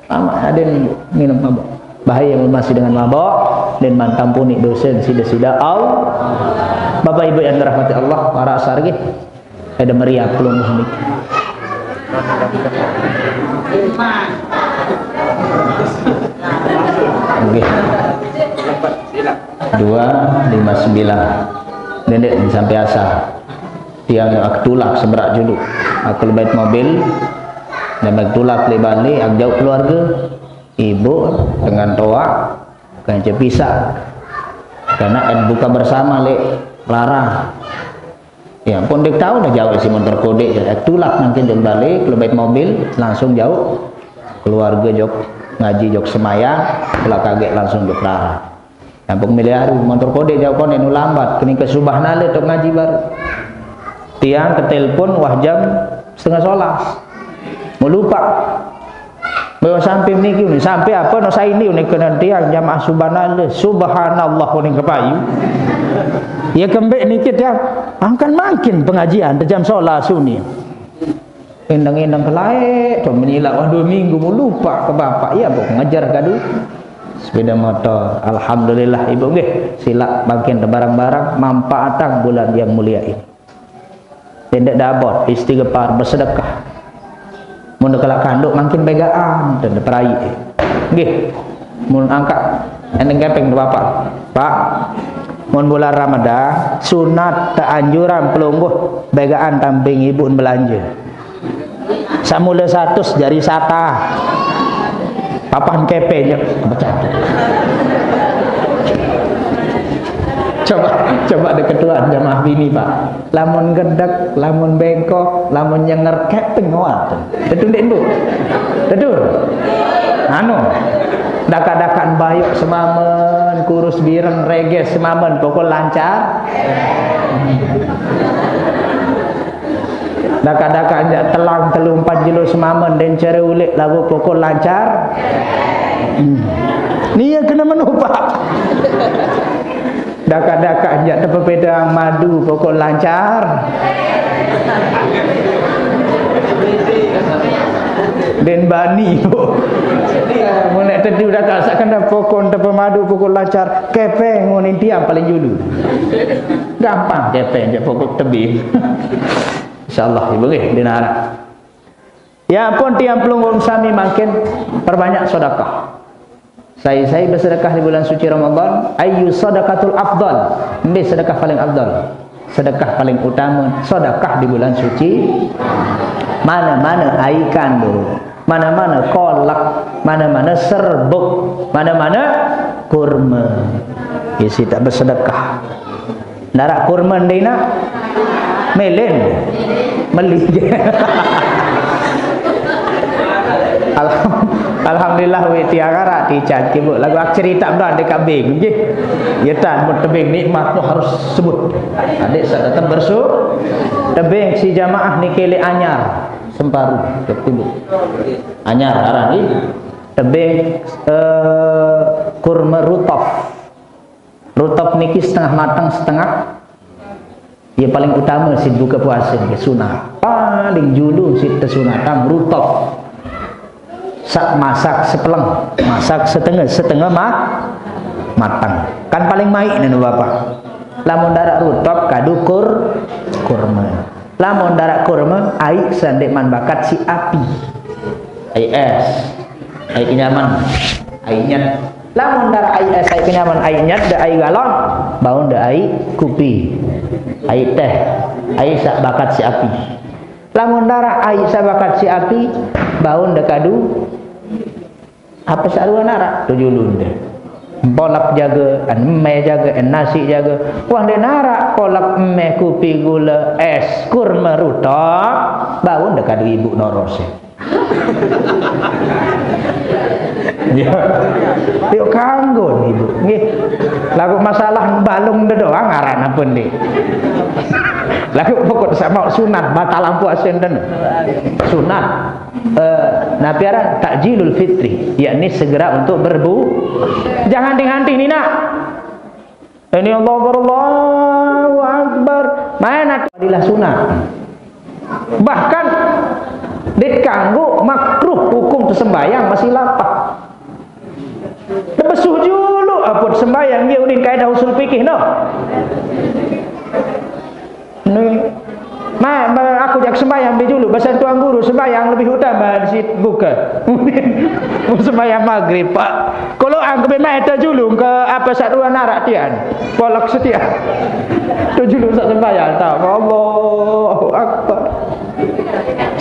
Tamaq aden minum mabok. Bahaya masih dengan mabok, dan mantampuni dosen sida-sida. Au. Bapak Ibu yang dirahmati Allah, para asar nggih. Ada meriah pelungguh niki. Nggih. Dua lima sembilan. Ndeq sampai asar. Tiang ak tulak seberaq julu. Ak lebet mobil, dan ak tulak leq bale, ak jauq keluarge, ibu dengan toaq, kance pisaq. Karena en buka bersama leq rara. Ya, pun ndeq tao dah jauq si montor kodeq, ya, tulak mangkin jauq bale, lebet mobil, langsung jauq keluarge jok ngaji jok semaya, kelak kageq langsung jok rara. Ampun milih aru, montor kodeq jauq konen nu lambat, kening ke subah nale tok ngaji baru. Tiang ketelepon wah jam setengah solas. Mau lupa. Bawa sampai niki ni, sampai apa no saya ini ni kena tiang jamaah subhanallah, subhanallah ni kepayu. Ya kembek niki tiang, angkan makin pengajian jam solas suni. Endang-endang kelae, to menyilak, wah, dua minggu mau lupa ke bapak, ya, kok ngejar kadu. Sepeda motor, alhamdulillah, Ibu, nggih, silaq bangkin barang-barang, manfaatang bulan yang mulia ini. Ndeq dabot, istighfar, bersedekah. Mun kelak kanduk, mangkin begaan, dan perai. Nggih, mun angkat, endeng kepeng, Bapak. Pak, mun bulan Ramadan, sunat teanjuran pelungguh, begaan tamping ibu belanja. Samula satus jari sata. Papan kepeng, pecah. Coba, coba deh ketua jamaah bini, Pak. Lamun gedek, lamun bengkok, lamun nyenger, kepeng ngoat. Betul ndak, Bu? Betul. Anu, daka-dakaan bayok semamen, kurus bireng reges semamen, pokok lancar. Daka-dakaan jak telang telu empat jelo semamen, den cere ulik lagu pokok lancar. Hmm. Nia kena menupak. Daka-daka jak tepepedang madu pokok lancar. Den bani, Bu. Mun nek tedu daka sak kena pokok tepemadu pokok lancar, kepeng ngonin tiang paling julu. Gampang kepeng jak pokok tebing. Insyaallah, Ibu nggih, dinara. Ya pun tiang pelungguh sami mangkin perbanyak sedekah. Sai-sai bersedekah di bulan suci Ramadan, ayu sadaqatul afdal. Endi sedekah paling afdal? Sedekah paling utama, sedekah di bulan suci. Mana-mana ai kandung, mana-mana kolak, mana-mana serbuk, mana-mana kurma. Isi tak bersedekah. Narak kurma dina. Melen. Meli. Alham-, Alhamdulillah, wek tiang arak tican kibuk. Lagu ak cerita mdah dek kabing, nggih. Ya tan, mun tebing nikmat tu harus sebut. Adik saya tetap bersu-, tebing si jamaah ni kele anyar, semparu, ketimbuk. Anyar arah ni. Tebing, eh, kurma rutop. Rutop niki setengah matang, setengah. Ya, paling utama si buka puasa niki sunat. Paling julu si tesunatan rutop. Sak masak sepeleng, masak setengah, setengah ma-, matang. Kan paling maik nenu Bapak. Lamun darak rutop kadu kur-, kurma. Lamun darak kurma, ai sandek man bakat si api. Ai es, ai kenyaman, ai nyet. Lamun darak ai es, ai kenyaman, ai nyet, da ai galon, baun da ai kupi, ai teh, ai sak bakat si api. Lamun darak ai sak bakat si api, baun da kadu apa sarua narak tu julun deh. Bolak jaga, en me jaga, en nasi jaga. Wah, dek narak kolak me, kupi gula, es, kurma rutop, baun da kadu ibu norose. Ya. Yuk kanggo ibu. Nggih. Lagu masalah balung de doang aran apa nih? Lagu pokok sama sunat batalan puasa enten. Sunat. Eh, napi aran takjilul fitri, yakni segera untuk berbu-, jangan dihenti ni nak. Ini Allahu Akbar, Allahu Akbar. Mana adilah sunat. Bahkan dikanggo makruh hukum tersembayang masih lapar. Tebesuh dulu apa sembayang dia udin kaidah usul fikih no. Ni, ma, ma, aku jak sembahyang di dulu. Pesan Tuan Guru, sembahyang lebih utama di situ buka. Sembahyang maghrib, Pak. Kalau aku memang itu dulu ke apa satuan arak tian. Polak setia. Tu dulu sak sembahyang tak. Allahu Akbar.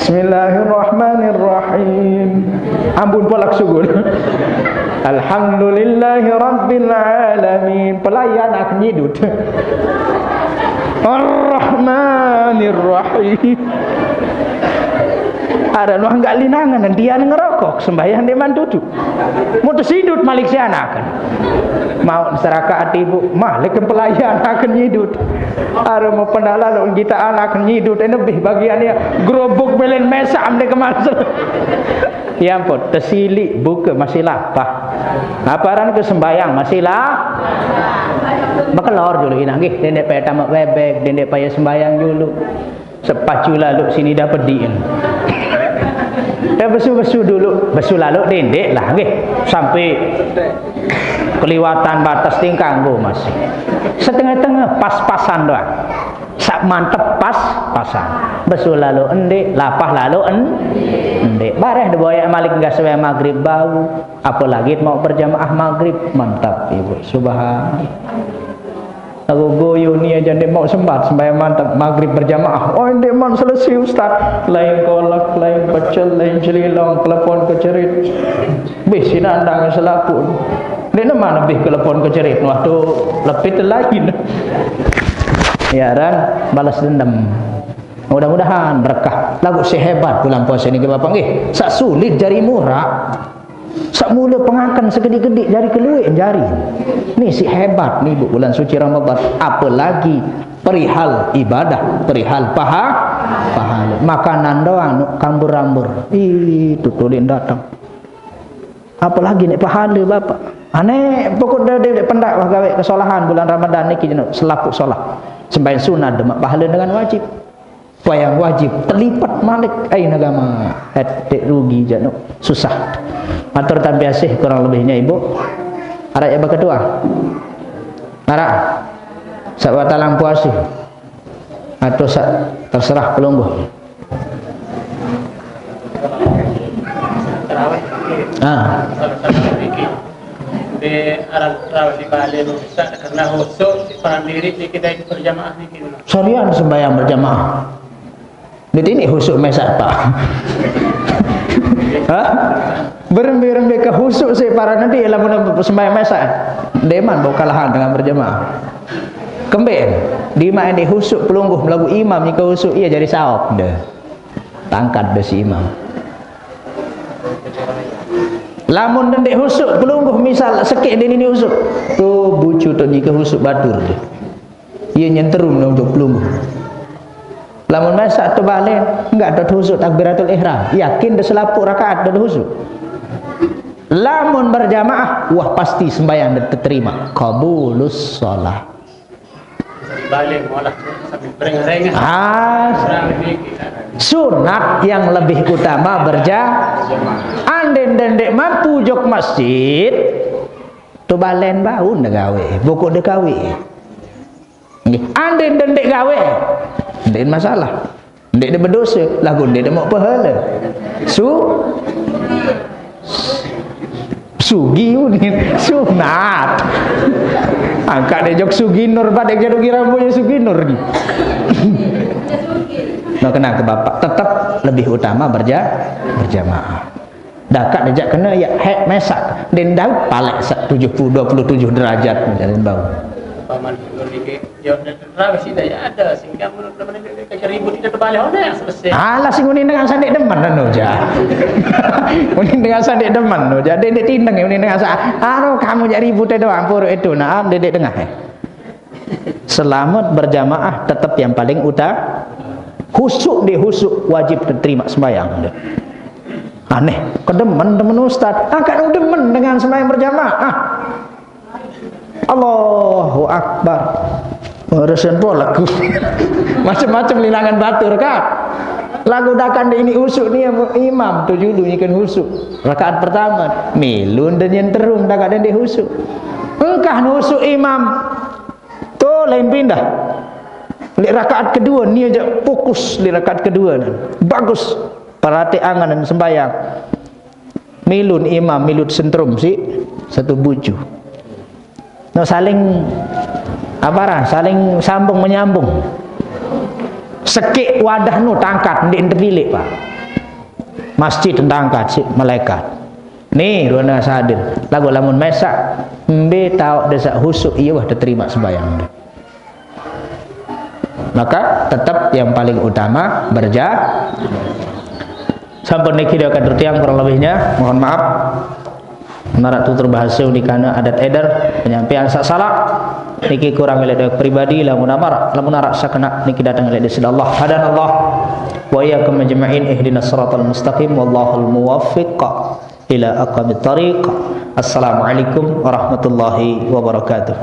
Bismillahirrahmanirrahim. Ampun polak sugul. Alhamdulillahi rabbil alamin. Pelayan aku nyidut. Ar-Rahmanir-Rahim. Ada luang gak linangan dan dia ngerokok sembahyang dia mantutu. Mau tersindut malik si anak kan. Mau serakaat ibu, malik ke pelayan akan nyidut. Ada mau pendala lo kita anak nyidut, ini lebih bagiannya gerobok belen mesam deh kemasuk. Ya ampun, tersilik buka masih lapah. Apa aran ke sembahyang masih lah? Bekelor dulu inang nggih, dendek payah tamak bebek, dendek payah sembahyang dulu. Sepacu lalu sini dah pediin. Dah besu-besu dulu, besu lalu dendek lah nggih. Sampai keliwatan batas tingkang go masih. Setengah-tengah pas-pasan doang. Sak mantep pas-pasan. Besu lalu endik, lapah lalu en-, endik. Bareh diboyak malik enggak sesuai maghrib bau. Apalagi mau berjamaah maghrib, mantap ibu. Subhan. Aku goyo ni aja ndak mau sempat sembahyang mantap maghrib berjamaah. Oh, ndak mau selesai ustaz. Lain kolak, lain pecel, lain celilong, telepon kecerit. Bih sinandang selaku. Ni Nama lebih ke lepon ke cerit, waktu lepit lain. Ya, dan balas dendam. Mudah-mudahan berkah. Lagu sehebat bulan puasa ni ke Bapak nggih. Sak sulit jari murah. Sak mula pengakan segedik-gedik jari keluar jari. Ni si hebat ni, Bu, bulan suci Ramadan. Apalagi perihal ibadah, perihal paha, pahala. Makanan doang nuk kambur-ambur. Ih, tu tulik datang. Apalagi nek pahala, Bapak. Aneh, pokok dia, dia, dia pendak wah gawe kesalahan bulan Ramadan ni, kita selaput solah. Sembahyang sunat demak pahala dengan wajib. Wayang wajib terlipat malik. Ai agama. Etik rugi jano. Susah. Matur tampi asih kurang lebihnya, Ibu. Arah ya ketua. Arah. Sak watalang puasi. Atau sak terserah pelungguh. Ah. Di arah tarawih di Bali, Ustaz, karena khusyuk, paran diri ni kita ikut berjamaah ni, gitu. Sorian sembahyang berjamaah. Di sini khusyuk mesak, Pak. Hah? Berembe-rembe ke khusyuk si para nanti ialah sembahyang mesak. Deman bau kalahan dengan berjamaah. Kemben, di mana di khusyuk pelungguh melagu imam ni ke khusyuk ia jadi saop deh. Tangkat deh si imam. Lamun dendek khusyuk pelungguh misal sekik deh ini khusyuk. Tu bucu tu ni ke khusyuk batur deh. Ia nyenterum dong untuk pelungguh. Lamun mesak tu balen, enggak ada khusyuk takbiratul ihram. Yakin deh selaput rakaat deh khusyuk. Lamun berjamaah, wah pasti sembahyang deh terima. Qabulus shalah. Balik malah sambil berengah-rengah. Ah, sunat yang lebih utama berja-, anden dendek mampu jok masjid, tu balen baun deh gawe, pokok deh gawe. Nggih, anden dendek gawe, ndak masalah. Ndak ada berdosa, lagu ndak ada mau pahala. Su-, sugi unin, sunat. Angkat deh jok Sugi Nur, pada jaduk kira punya Sugi Nur ni. Nah, kena ke bapak, tetap lebih utama berja-, berjamaah. Dakak dejak kena ya hek mesak. Den Daud palek sak tujuh puluh, dua puluh tujuh derajat macam bau. Paman Gunung ini, ya, terawih sih dah ya ada. Sehingga menurut teman ini, kayak ribut itu terbalik, oh, nah, selesai. Alah, sing unin dengan sandik demen, anu, ja. Unin dengan sandik demen, no, ja. Dia, dia tindeng, unin dengan sa-, anu, kamu jadi ribut itu, ampun, itu, nah, dia, dia tengah, eh. Selamat berjamaah tetap yang paling utama. Khusyuk deh, khusyuk, wajib diterima sembahyang. Aneh, kedemen, demen ustaz. Angkat demen dengan sembahyang berjamaah. Allahu Akbar. Resenpo lagu. Macam-macam linangan batur, kan? Lagu dakan di ini usuk ni imam tu dulu ni kan usuk. Rakaat pertama, milun dan yang terung dakan di usuk. Engkah usuk imam. Tu lain pindah. Di rakaat kedua ni aja fokus di rakaat kedua ni. Bagus. Perhati angan dan sembahyang. Milun imam, milut sentrum si satu bucu. No saling apa lah, saling sambung menyambung. Sekik wadah nu tangkat, ndik terpilik, Pak. Masjid tangkat si malaikat. Ni, ruana sadir. Lagu lamun mesak, mbe tau desa husuk, iya wah diterima sembahyang. Maka tetap yang paling utama berja-, sampun niki dia kadur tiang kurang lebihnya, mohon maaf. Narak tutur bahasa di kana adat eder, penyampaian sak salah. Niki kurang elek dari pribadi, lamun amar, lamun arak sakena niki datang elek dari Allah. Hadanallah wa iyyakum ajma'in, ihdinas siratal mustaqim, wallahul muwaffiq ila aqwamit thariq. Assalamualaikum warahmatullahi wabarakatuh.